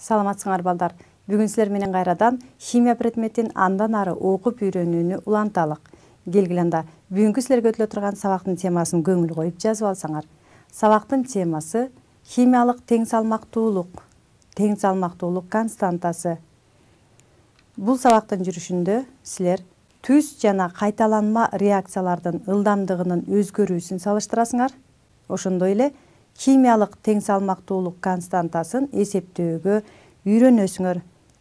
Саламатсыңар балдар. Бүгүн силер менен кайрадан химия предметин андан ары окуп үйрөнүүнү уланталык. Келгиле анда бүгүнкү силерге өтүлө турган сабактын темасын көңүл коюп жазып алсаңар. Сабактын темасы химиялык тең салмактуулук константасы. Бул сабактын жүрүшүндө силер түз жана кайталанма реакциялардын ылдамдыгынын өзгөрүүсүн салыштырасыңар. Ошондой эле химиялык тең салмактуулук константасын эсептөөгө үйрөнөсүңөр.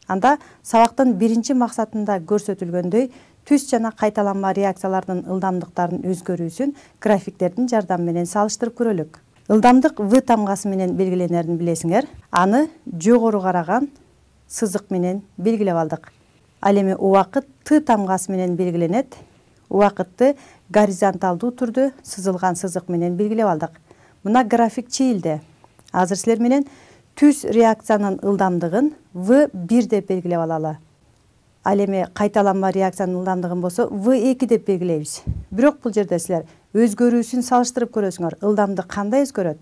Анда сабактын биринчи максатында көрсөтүлгөндөй түз жана кайталанма реакциялардын ылдамдыктарынын өзгөрүүсүн графиктердин жардамы менен салыштырып көрөлүк. Ылдамдык В тамгасы менен белгиленерин билесиңер. Аны жогору караган сызык менен белгилеп алдык. Ал эми убакыт Т тамгасы менен белгиленет. Убакытты горизонталдуу түрдө сызылган сызык менен белгилеп алдык. Мына график чийилди. Азыр силер менен түз реакциянын ылдамдыгын В1 деп белгилеп алалы. Ал эми кайталанма реакциянын ылдамдыгын болсо В2 деп белгилейбиз. Бирок бул жерде силер өзгөрүүсүн салыштырып көрөсүңөр. Ылдамдык кандай өзгөрөт?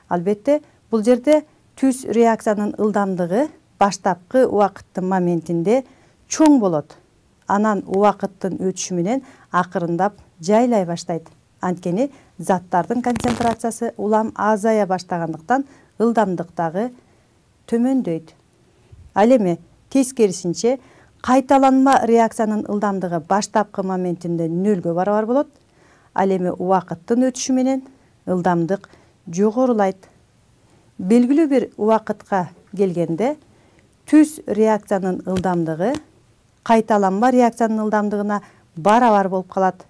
Албетте, бул жерде түз реакциянын ылдамдыгы баштапкы убакыттын моментинде чоң болот. Анан убакыттын өтүшү менен акырындап жайлай баштайт. Анткени заттардын концентрациясы улам азая баштагандыктан ылдамдык дагы төмөндөйт. Ал эми тескерисинче кайталанма реакциянын ылдамдыгы баштапкы моментинде нөлгө барабар болот. Ал эми убакыттын өтүшү менен ылдамдык жогорулайт. Белгилүү бир убакытка келгенде түз реакциянын ылдамдыгы кайталанма реакциянын ылдамдыгына барабар болуп калат.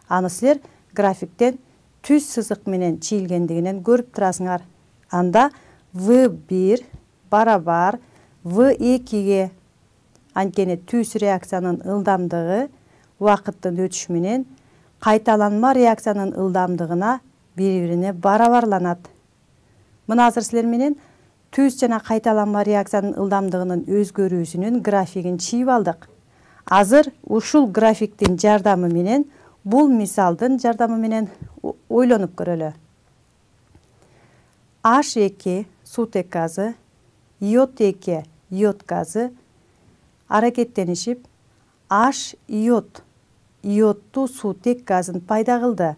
Аны силер графиктен түз сызык менен чийилгендигинен көрүп турасыңар. Анда В1 барабар В2ге. Анткени түз реакциянын ылдамдыгы убакыттын өтүшү менен кайталанма реакциянын ылдамдыгына бири-бирине барабарланат. Мына азыр силер менен түз жана кайталанма реакциянын ылдамдыгынын өзгөрүүсүнүн графигин чийип алдык. Азыр ушул графиктин жардамы менен, бул мисалдын жардамы менен ойлонуп көрөлү. H2 сутек газы, иод2 иод газы аракеттенишип H иодтуу сутек газын пайда кылды.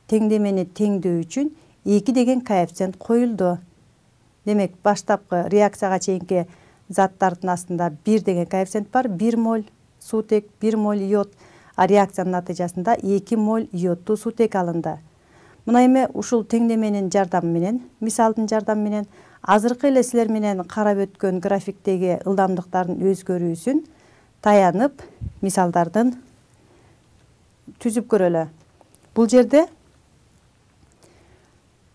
Теңдемени теңдөө үчүн 2 деген коэффициент коюлду. Демек, баштапкы реакцияга чейинки заттардын астында 1 деген коэффициент бар. 1 моль сутек, 1 моль иод. А реакциянын натыйжасында 2 моль иодтуу сутек алынды. Мына эми ушул теңдеменин жардамы менен, мисалдын жардамы менен азыркы эле силер менен карап өткөн графиктеги ылдамдыктардын өзгөрүүсүн таянып, мисалдардын түзүп көрөлү. Бул жерде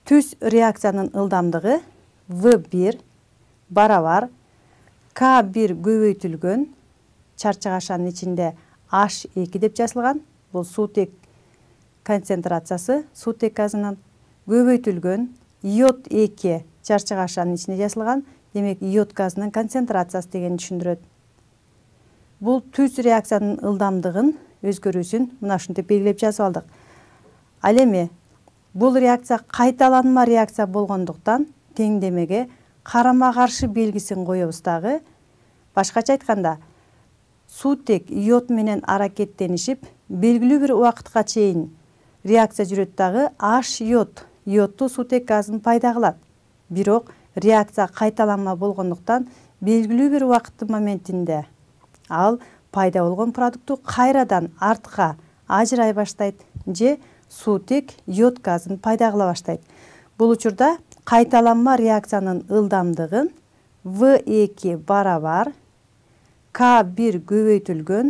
түз реакциянын ылдамдыгы В1 барабар К1 көбөйтүлгөн чарчык ашанын ичинде H2 деп жазылган. Бул сутек концентрациясы сутек газынын көбөйтүлгөн иод2 чарчык ашанын ичинде жазылган. Демек, иод газынын концентрациясы дегенди түшүндүрөт. Бул түз реакциянын ылдамдыгын өзгөрүүсүн мына ушинтип белгилеп жазып алдык. Ал эми бул реакция кайталанма реакция болгондуктан теңдемеге карама каршы белгисин коебуз дагы. Башкача айтканда, сутек иод менен аракеттенишип белгилүү бир убакытка чейин реакция жүрөт дагы H иодтуу сутек газын пайда кылат. Бирок реакция кайталанма болгондуктан белгилүү бир убакыттын моментинде ал пайда болгон продукту кайрадан артка ажырай баштайт же сутек иод газын пайда кыла баштайт. Бул учурда кайталанма реакциянын ылдамдыгын V2 барабар К1 көбөйтүлгөн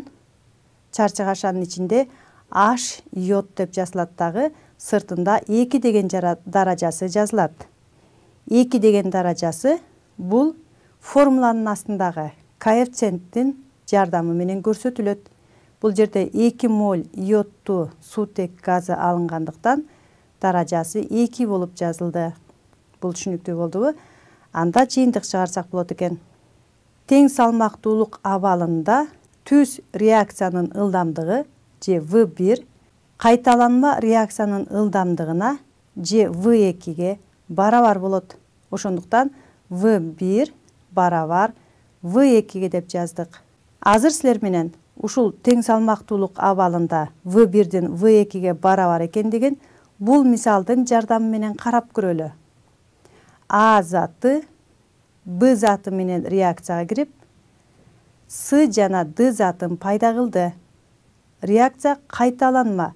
чарчык ашанын ичинде H иод деп жазылат дагы, сыртында 2 деген даражасы жазылат. 2 деген даражасы бул формуланын астындагы коэффициенттин жардамы менен көрсөтүлөт. Бул жерде 2 моль иодтуу сутек газы алынгандыктан даражасы 2 болуп жазылды. Бул түшүнүктүү болдубу? Анда жыйынтык чыгарсак болот экен. Тең салмактуулук абалында түз реакциянын ылдамдыгы же В1 кайталанма реакциянын ылдамдыгына же В2ге барабар болот. Ошондуктан В1 барабар V2 деп жаздык. Азыр силер менен ушул тең салмактуулук абалында V1дин V2 барабар экендигин бул мисалдын жардамы менен карап көрөлү. А заты Б заты менен реакцияга кирип, С жана Д затын пайда кылды. Реакция кайталанма.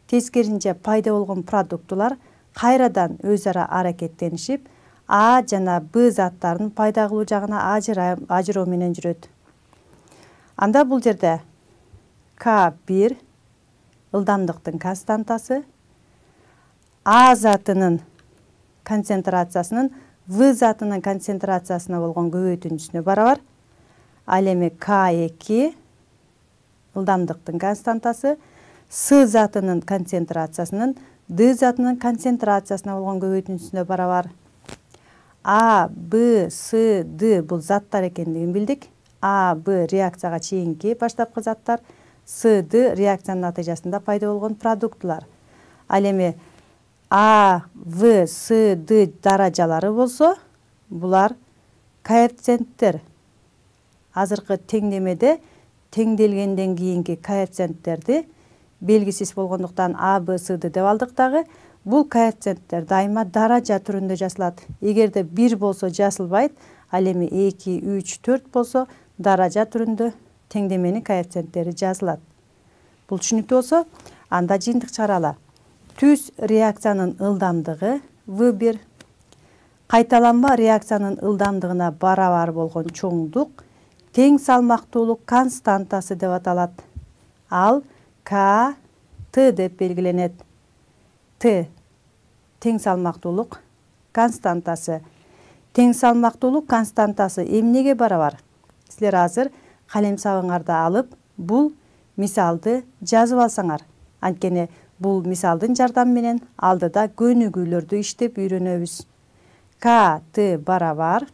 Тескеринче пайда болгон продуктулар кайрадан өз ара аракеттенишип, А жана Б заттарын пайда кылуу жагына ажыроо менен жүрөт. Анда бул жерде К1 ылдамдыктын константасы А затынын концентрациясынын В затынын концентрациясына болгон көбөйтүнчүсүнө барабар. Ал эми К2 ылдамдыктын константасы С затынын концентрациясынын Д затынын концентрациясына болгон көбөйтүнчүсүнө барабар. А, Б, С, Д бул заттар экендигин билдик. А, Б реакцияга чейинки баштапкы заттар, С, Д реакциянын натыйжасында пайда болгон продуктулар. Ал эми А, В, С, Д даражалары болсо, булар коэффициенттер. Азыркы теңдемеде теңделгенден кийинки коэффициенттерди белгисиз болгондуктан А, Б, С, Д деп алдык дагы. Бул коэффициенттер дайыма даража түрүндө жазылат. Эгерде 1 болсо жазылбайт, ал эми 2, 3, 4 болсо даража түрүндө теңдеменин коэффициенттери жазылат. Бул түшүнүктүү болсо, анда жыйынтык чыгаралы. Түз реакциянын ылдамдыгы V1 кайталанма реакциянын ылдамдыгына барабар болгон чоңдук тең салмактуулук константасы деп аталат. Ал К, Т деп белгиленет. Т тең салмактуулук константасы. Тең салмактуулук константасы эмнеге барабар? Силер азыр калем сабыңарды алып, бул мисалды жазып алсаңар. Анткени бул мисалдын жардамы менен алдыда көнүгүүлөрдү иштеп үйрөнөбүз. К, Т барабар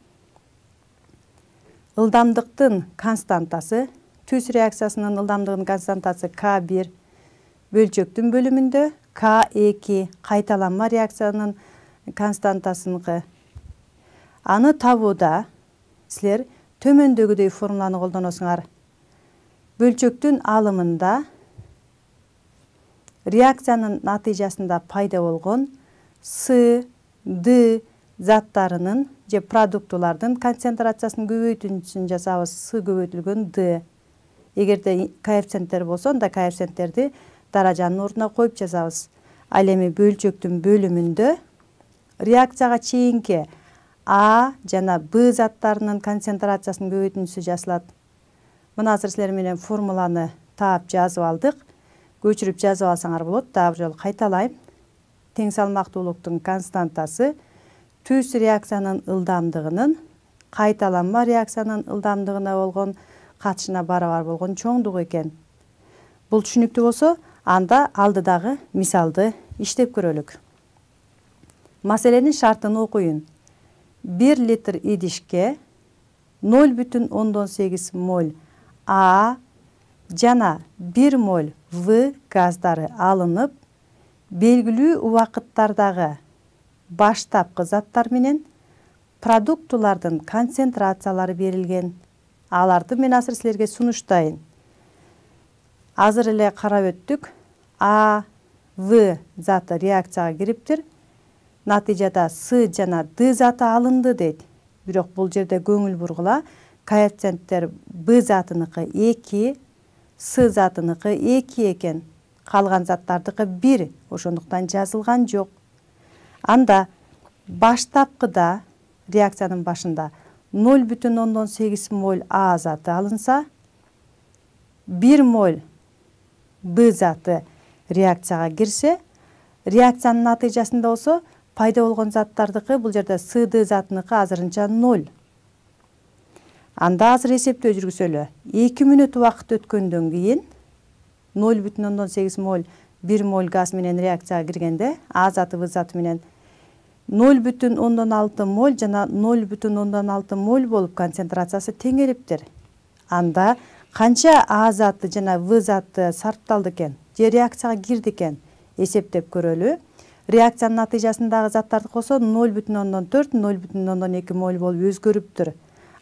ылдамдыктын константасы, түз реакциясынын ылдамдыгынын константасы К1 бөлчөктүн бөлүмүндө К2 кайталанма реакциянын константасыныкы. Аны табууда силер төмөндөгүдөй формуланы колдоносуңар. Бөлчөктүн алымында реакциянын натыйжасында пайда болгон С, Д заттарынын же продуктулардын концентрациясынын көбөйтүнчүсүн жасабыз. С көбөйтүлгөн Д. Эгерде коэффициенттер болсо, анда коэффициенттерди даражанын ордуна коюп жазабыз. Ал эми бөлчөктүн бөлүмүндө реакцияга чейинки А жана Б заттарынын концентрациясынын көбөйтүнчүсү жасалат. Мына азыр силер менен формуланы таап жазып алдык. Көчүрүп жазып алсаңар болот. Дагы бир жолу кайталайм. Тең салмактуулуктун константасы түз реакциянын ылдамдыгынын кайталанма реакциянын ылдамдыгына болгон катышына барабар болгон чоңдук экен. Бул түшүнүктүү болсо, анда алдыдагы мисалды иштеп көрөлүк. Маселенин шартын окуйун. 1 литр идишке 0,8 моль А жана 1 моль В газдары алынып, белгилүү убакыттардагы баштапкы заттар менен продуктулардын концентрациялары берилген. Аларды мен азыр силерге сунуштайын. Азыр эле карап өттүк. А, В заты реакцияга кириптир. Натыйжада С жана Д заты алынды дейт. Бирок бул жерде көңүл бургула, коэффициенттер Б затыныкы 2, С затыныкы 2 экен. Калган заттардыкы 1, ошондуктан жазылган жок. Анда баштапкыда реакциянын башында 0,8 моль А заты алынса, 1 моль Б заты реакцияга кирсе, реакциянын натыйжасында болсо пайда болгон заттардыкы бул жерде С, Д затыныкы азырынча 0. Анда азыр эсептөө жүргүзөлү. 2 мүнөт убакыт өткөндөн кийин 0,8 моль 1 моль газ менен реакцияга киргенде А заты В заты менен 0,6 моль жана 0,6 моль болуп концентрациясы теңелиптир. Анда канча А заты жана В заты сарпталды экен, же реакцияга кирди экен эсептеп көрөлү. Реакциянын натыйжасындагы заттарды косо 0,4, 0,2 моль болуп өзгөрүптүр.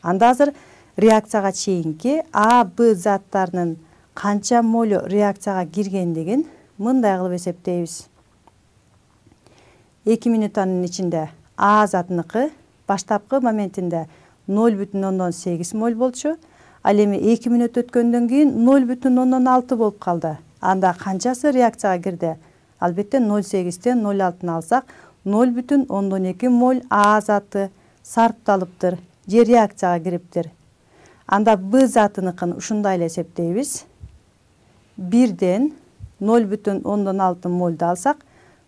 Анда азыр реакцияга чейинки А, Б заттарынын канча молу реакцияга киргендигин мындай кылып эсептейбиз. 2 минутанын ичинде А затыныкы баштапкы моментинде 0,8 моль болчу. Ал эми 2 минут өткөндөн кийин 0,6 болуп калды. Анда канчасы реакцияга кирди? Албетте 0,8тен 0,6-ны алсак 0,2 моль А заты сарпталыптыр же реакцияга кириптир. Анда Б затыныкын ушундай эле эсептейбиз. 1ден 0,6 мольду алсак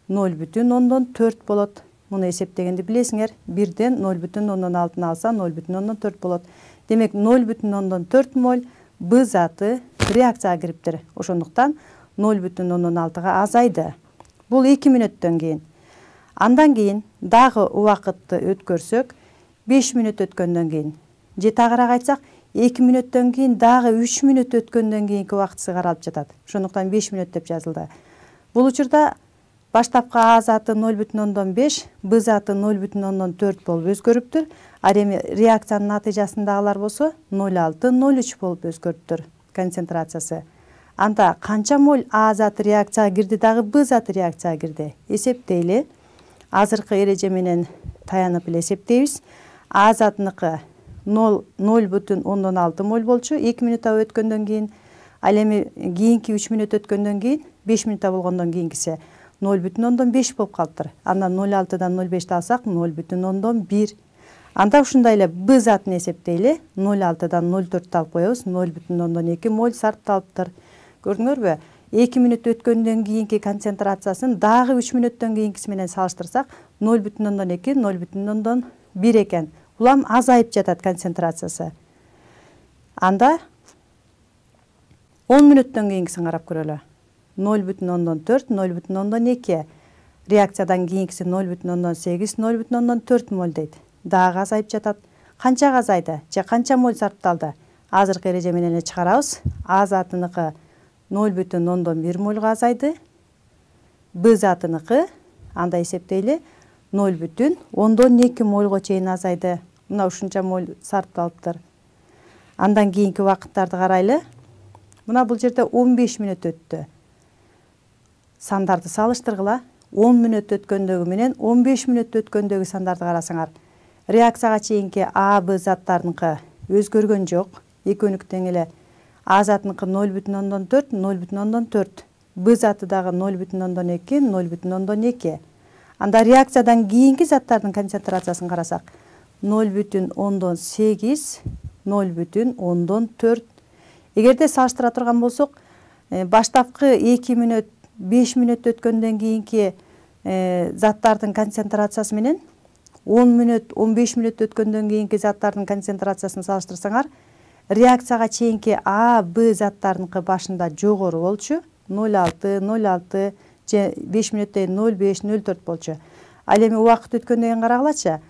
0,4 болот. Муну эсептегенди билесиңер. 1ден 0,6-ны алса 0,4 болот. Демек 0,4 моль Б заты реакцияга кириптир. Ошондуктан 0,6-га азайды. Бул 2 мүнөттөн кийин. Андан кийин дагы убакытты өткөрсөк, 5 мүнөт өткөндөн кийин же тагыраак айтсак, 2 мүнөттөн кийин дагы 3 мүнөт өткөндөн кийинки убакытысы каралып жатат. Ошондуктан 5 мүнөт деп жазылды. Бул учурда баштапкы А заты 0,5, Б заты 0,4 болуп өзгөрүптүр. А эми реакциянын натыйжасындагылар болсо 0,6-0,3 болуп өзгөрүптүр концентрациясы. Анда канча моль А заты реакцияга кирди дагы Б заты реакцияга кирди? Эсептейли. Азыркы эреже менен таянып эле эсептейбиз. А затыныкы 0,6 моль болчу 2 минутта өткөндөн кийин. Ал эми кийинки 3 мүнөт өткөндөн кийин 5 минутта болгондон кийинкиси 0,5 болуп калыптыр. Андан 0,6дан 0,5 алсак 0,1. Анда ушундай эле Б затын эсептейли. 0,6дан 0,4 алып коебуз. 0,2 моль сарпталыптыр. Көрдүңөрбү? 2 мүнөт өткөндөн кийинки концентрациясын дагы 3 мүнөттөн кийинкиси менен салыштырсак 0,2, 0,1 экен. Улам азайып жатат концентрациясы. Анда 10 мүнөттөн кийинкисин карап көрөлү. 0,4, 0,2. Реакциядан кийинкиси 0,8, 0,4 моль дейт. Дагы азайып жатат. Канчага азайды? Же канча моль сарпталды? Азыркы эреже менен эле чыгарабыз. А затыныкы 0,1 мольга азайды. Б затыныкы анда эсептейли 0,2 мольго чейин азайды. Мына ушунча моль сарпталыптыр. Андан кийинки убакыттарды карайлы. Мына бул жерде 15 мүнөт өттү. Сандарды салыштыргыла. 10 мүнөт өткөндөгү менен 15 мүнөт өткөндөгү сандарды карасаңар, реакцияга чейинки А, Б заттарыныкы өзгөргөн жок. Экөөнүк тең эле. А затыныкы 0,4, 0,4. Б заты дагы 0,2, 0,2. Анда реакциядан кийинки заттардын концентрациясын карасак, 0,8, 0,4. Эгерде салыштыра турган болсок, баштапкы 2 мүнөт, 5 мүнөт өткөндөн кийинки заттардын концентрациясы менен 10 мүнөт, 15 мүнөт өткөндөн кийинки заттардын концентрациясын салыштырсаңар, реакцияга чейинки А, Б заттарыныкы башында жогору болчу, 0,6, 0,6 же 5 мүнөттөн 0,5, 0,4 болчу. Ал эми убакыт өткөндөн кийин карагылачы,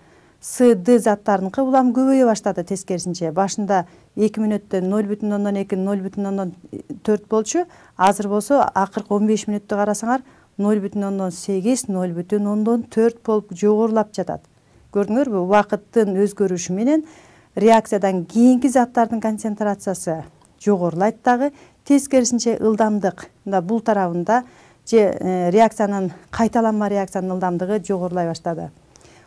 С, Д заттарыныкы улам көбөйө баштады тескерисинче. Башында 2 мүнөттөн 0,2, 0,4 болчу. Азыр болсо акыркы 15 мүнөттү карасаңар 0,8, 0,4 болуп жогорулап жатат. Көрдүңөрбү? Убакыттын өзгөрүшү менен реакциядан кийинки заттардын концентрациясы жогорулайт дагы, тескерисинче ылдамдык мында бул тарабында же реакциянын кайталанма реакциянын ылдамдыгы жогорулай баштады.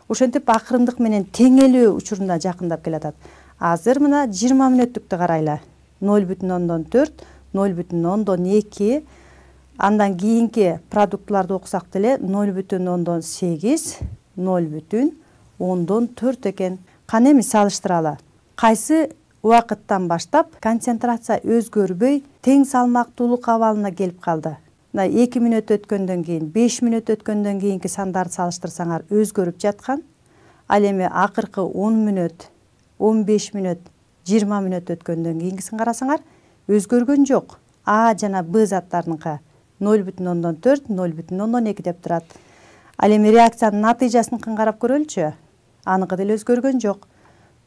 Ошентип акырындык менен теңелүү учурунда жакындап келатат. Азыр мына 20 мүнөттүктү карайлы. 0,4, 0,2. Андан кийинки продуктларды окусак деле 0,8, 0,4 экен. Кана эми салыштыралы. Кайсы убакыттан баштап концентрация өзгөрбөй тең салмактуулук абалына келип калды? 2 мүнөт өткөндөн кийин, 5 мүнөт өткөндөн кийинки сандарды салыштырсаңар өзгөрүп жаткан. Ал эми акыркы 10 мүнөт, 15 мүнөт, 20 мүнөт өткөндөн кийинкисин карасаңар өзгөргөн жок. А жана Б заттарыныкы 0,4, 0,2 деп турат. Ал эми реакциянын натыйжасын карап көрөлүчү. Аныкы деле өзгөргөн жок.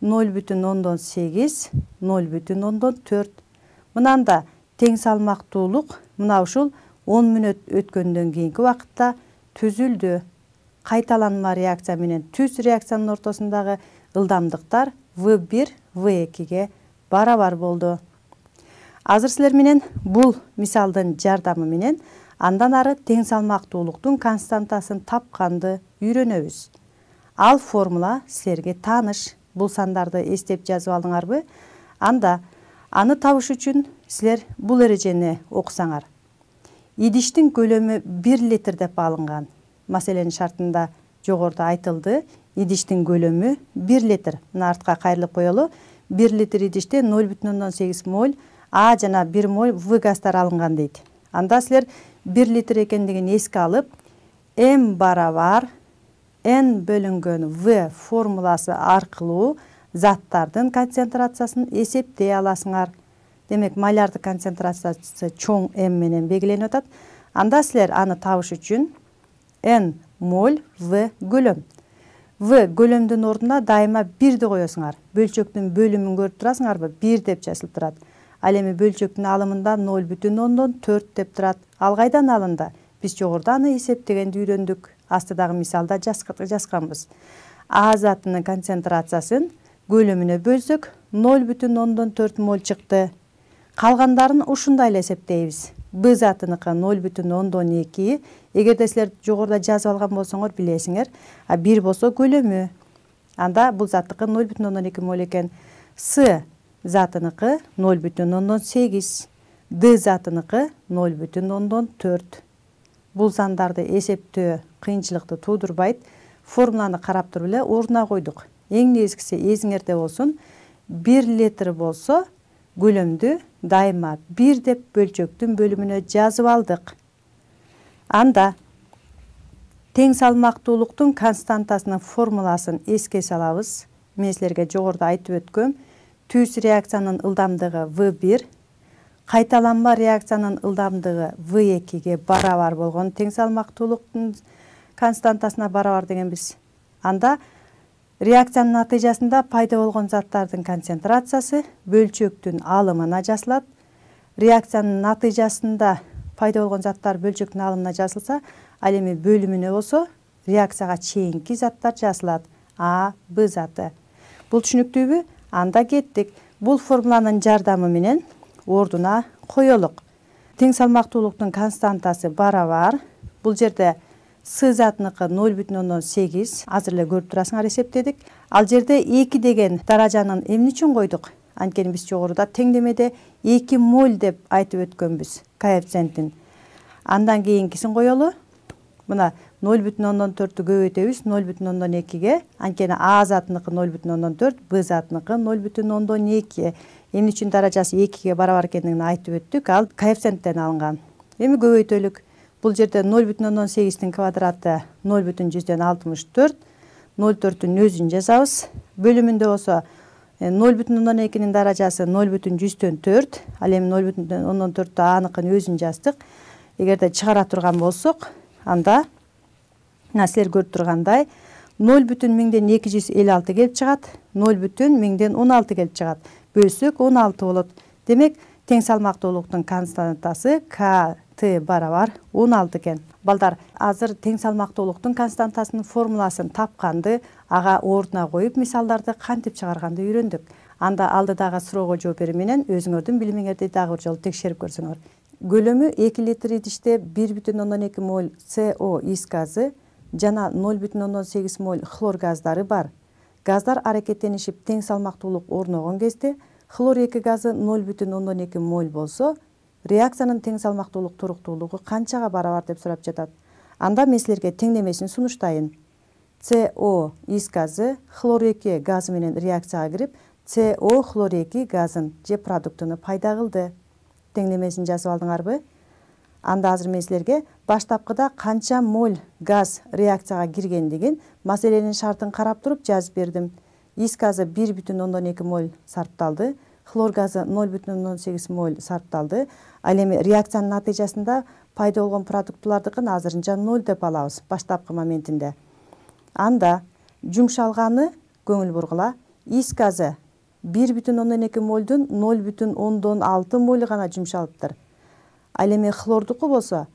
0,8, 0,4. Мынанда тең салмактуулук мына ушул 10 мүнөт өткөндөн кийинки убакытта түзүлдү. Кайталанма реакция менен түз реакциянын ортосундагы ылдамдыктар V1 V2 барабар болду. Азыр силер менен бул мисалдын жардамы менен андан ары тең салмактуулуктун константасын тапканды үйрөнөбүз. Ал формула силерге тааныш. Бул сандарды эстеп жазып алдыңарбы? Анда аны табыш үчүн силер бул эрежени окусаңар. Идиштин көлөмү 1 литр деп алынган. Маселенин шартында жогоруда айтылды. Идиштин көлөмү 1 литр. Мына артка кайрылып коелу. 1 литр идиште 0,8 моль А жана 1 моль В газдар алынган дейт. Анда силер 1 литр экендигин эске алып, М барабар N бөлүнгөн В формуласы аркылуу заттардын концентрациясын эсептей аласыңар. Демек, малярдык концентрациясы чоң М менен белгиленип атат. Анда силер аны табыш үчүн N моль В көлөм. В көлөмдүн ордуна дайыма 1 коесуңар. Бөлчөктүн бөлүмүн көрүп турасыңарбы? 1 деп жазылып турат. Ал эми бөлчөктүн алымында 0,4 деп турат. Ал кайдан алынды? Биз жогоруда аны эсептегенди үйрөндүк. Астыдагы мисалда жазганбыз. А затынын концентрациясын көлөмүнө бөлсөк 0,4 моль чыкты. Калгандарын ушундай эле эсептейбиз. Б затыныкы 0,2. Эгерде силер жогоруда жазып алган болсоңор билесиңер, а 1 болсо көлөмү. Анда бул заттыкы 0,2 моль экен. С затыныкы 0,8. Д затыныкы 0,4. Бул сандарды эсептөө кыйынчылыкты туудурбайт. Формуланы карап туруп эле ордуна койдук. Эң негизгиси эсиңерде болсун. 1 литр болсо көлөмдү дайыма 1 деп бөлчөктүн бөлүмүнө жазып алдык. Анда тең салмактуулуктун константасынын формуласын эске салабыз. Мен силерге жогоруда айтып өткөм. Түз реакциянын ылдамдыгы V1, кайталанма реакциянын ылдамдыгы V2 барабар болгон тең салмактуулуктун константасына барабар дегенбиз. Анда реакциянын натыйжасында пайда болгон заттардын концентрациясы бөлчөктүн алымына жазылат. Реакциянын натыйжасында пайда болгон заттар бөлчөктүн алымына жазылса, ал эми бөлүмүнө болсо реакцияга чейинки заттар жазылат. А, Б заты. Бул түшүнүктүүбү? Анда кеттик. Бул формуланын жардамы менен ордуна коелук. Тең салмактуулуктун константасы барабар. Бул жерде С затыныкы 0,8. Азыр эле көрүп турасыңар, эсептедик. Ал жерде 2 деген даражанын эмне үчүн койдук? Анткени биз жогоруда теңдемеде 2 моль деп айтып өткөнбүз коэффициентин. Андан кийинкисин коелу. Мына 0,4-тү көбөйтөбүз 0,2ге. Анткени А затыныкы 0,4, Б затыныкы 0,2. Эмне үчүн даражасы 2ге барабар экендигин айтып өттүк. Ал коэффициенттен алынган. Эми көбөйтөлүк. Бул жерде 0,8-тин квадраты 0,64. 0,4-түн өзүн жазабыз. Бөлүмүндө болсо 0,2-нин даражасы 0,104. Ал эми 0,4-тү аныкын өзүн жаздык. Эгерде чыгара турган болсок, анда силер көрүп тургандай 0,256 келип чыгат, 0,16 келип чыгат. Бөлсөк 16 болот. Демек, тең салмактуулуктун константасы КТ барабар 16 экен. Балдар, азыр тең салмактуулуктун константасынын формуласын тапканды, ага ордуна коюп мисалдарды кантип чыгарганды үйрөндүк. Анда алдыдагы суроого жооп берүү менен өзүңөрдүн билимиңерди дагы бир жолу текшерип көрсөңөр. Көлөмү 2 литр идиште 1,2 моль СО ис газы жана 0,8 моль хлор газдары бар. Газдар аракеттенишип тең салмактуулук орногон кезде хлор 2 газы 0,2 моль болсо, реакциянын тең салмактуулук туруктуулугу канчага барабар деп сурап жатат. Анда мен силерге теңдемесин сунуштайын. СО ис газы хлор 2 газы менен реакцияга кирип, СО хлор 2 газын же продуктуну пайда кылды. Теңдемесин жазып алдыңарбы? Анда азыр мен силерге баштапкыда канча моль газ реакцияга киргендигин маселенин шартын карап туруп жазып бердим. Ис газы 1,2 моль сарпталды, хлор газы 0,8 моль сарпталды. Ал эми реакциянын натыйжасында пайда болгон продуктулардыкын азырынча 0 деп алабыз баштапкы моментинде. Анда жумшалганы көңүл бургула. Ис газы 1,2 мольдун 0,6 моль гана жумшалыптыр. Ал эми хлордуку болсо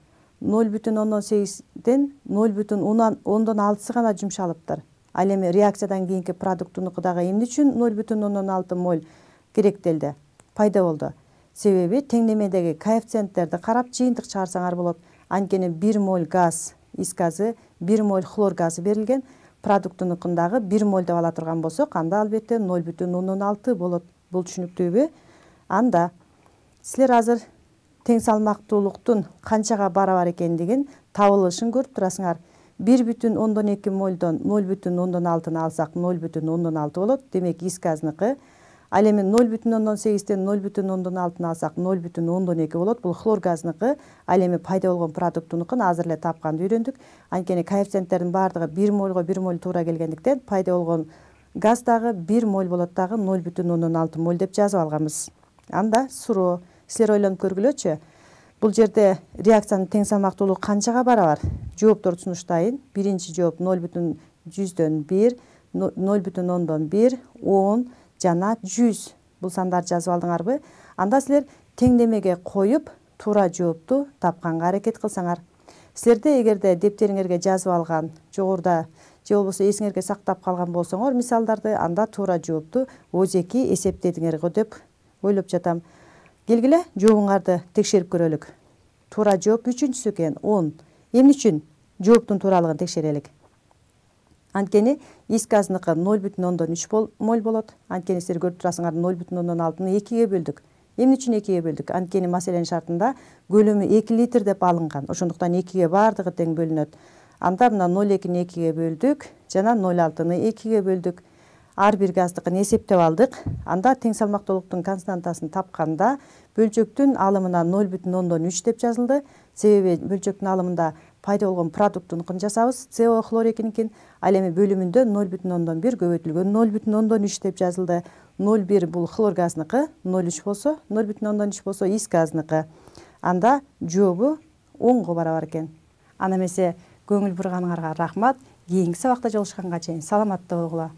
0,8ден 0,6 гана жумшалыптыр. Ал эми реакциядан кийинки продуктунуку дагы эмне үчүн 0,6 моль керектелди, пайда болду? Себеби теңдемедеги коэффициенттерди карап жыйынтык чыгарсаңар болот. Анткени 1 моль газ, ис газы, 1 моль хлор газы берилген, продуктунукундагы 1 моль деп ала турган болсок, анда албетте 0,6 болот. Бул түшүнүктүүбү? Анда силер азыр тең салмактуулуктун канчага барабар экендигин табылышын көрүп турасыңар. 1,2 мольдон 0,6 алсак 0,6 болот. Демек ис газыныкы. Ал эми 0,8ден 0,6 алсак 0,12 болот. Бул хлор газыныкы. Ал эми пайда болгон продуктунукун азыр эле тапканды үйрөндүк. Анткени коэффициенттердин баардыгы 1 мольго 1 моль туура келгендиктен пайда болгон газ дагы 1 моль болот, дагы 0,6 моль деп жазып алганбыз. Анда суроо, силер ойлонуп көргүлөчү. Бул жерде реакциянын тең салмактуулугу канчага барабар? Жоопторду сунуштайын. Биринчи жооп 0,100дөн 1, 0,1, 10 жана 100. Бул сандарды жазып алдыңарбы? Анда силер теңдемеге коюп, туура жоопту тапканга аракет кылсаңар. Силерде эгерде дептериңерге жазып алган, жогоруда же болбосо эсиңерге сактап калган болсоңор мисалдарды, анда туура жоопту өзеки эсептедиңер го деп ойлоп жатам. Келгиле, жообуңарды текшерип көрөлүк. Туура жооп 3-чүсү экен, 10. Эмне үчүн жооптун тууралыгын текшерелик? Анткени ис газыныкы 0,3 моль болот. Анткени силер көрүп турасыңар 0,6-ны 2ге бөлдүк. Эмне үчүн 2ге бөлдүк? Анткени маселенин шартында көлөмү 2 литр деп алынган. Ошондуктан 2ге баардыгы тең бөлүнөт. Анда мына 0,2-ни 2ге бөлдүк жана 0,6-ны 2ге бөлдүк. Ар бир газдыкын эсептеп алдык. Анда тең салмактуулуктун константасын тапканда бөлчөктүн алымына 0,3 деп жазылды. Себеби бөлчөктүн алымында пайда болгон продуктунукун жасабыз, CO хлорекиникин. Ал эми бөлүмүндө 0,1 көбөйтүлгөн 0,3 деп жазылды. 0,1 бул хлор газыныкы, 0,3 болсо, 0,3 болсо ис газыныкы. Анда жообу 10го барабар экен. Ана эмесе көңүл бурганыңарга рахмат. Кийинки сабакта жолугушканга чейин саламатта болгула.